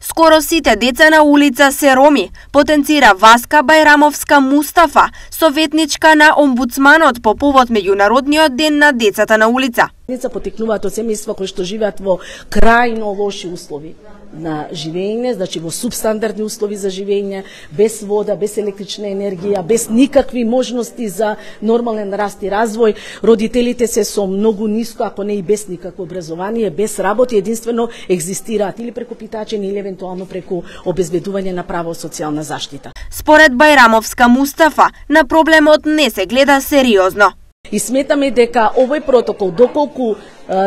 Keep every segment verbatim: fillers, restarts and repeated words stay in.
Скоро сите деца на улица се роми, потенцира Васка Бајрамовска Мустафа, советничка на омбудсманот по повод меѓународниот ден на децата на улица. Деца потекнуваат од семејства кои што живеат во крајно лоши услови на живење, значи во субстандардни услови за живење, без вода, без електрична енергија, без никакви можности за нормален раст и развој. Родителите се со многу ниско, ако не и без никакво образование, без работа, единствено екзистираат или преку питачење или евентуално преку обезбедување на право социјална заштита. Според Бајрамовска Мустафа, на проблемот не се гледа сериозно. И сметаме дека овој протокол, доколку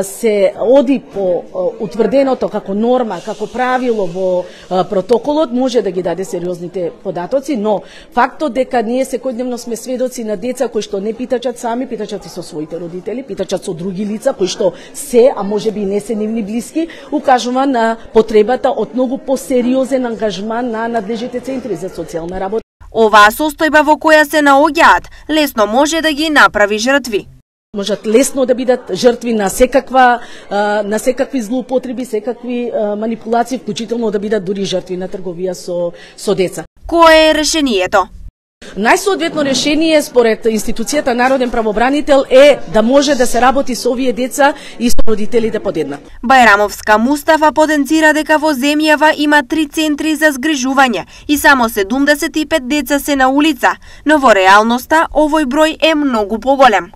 се оди по утврденото како норма, како правило во протоколот, може да ги даде сериозните податоци, но фактот дека ние секојдневно сме сведоци на деца кои што не питачат сами, питачат и со своите родители, питачат со други лица кои што се, а може би не се нивни блиски, укажува на потребата од многу посериозен ангажман на надлежните центри за социјална работа. Оваа состојба во која се наоѓаат лесно може да ги направи жртви. Можат лесно да бидат жртви на секаква на секакви злоупотреби, секакви манипулации, вклучително да бидат дури жртви на трговија со со деца. Кое е решението? Најсоодветно решение според институцијата Народен правобранител е да може да се работи со овие деца и со родителите подеднакво. Бајрамовска Мустафа потенцира дека во земјава има три центри за згрижување и само седумдесет и пет деца се на улица, но во реалноста овој број е многу поголем.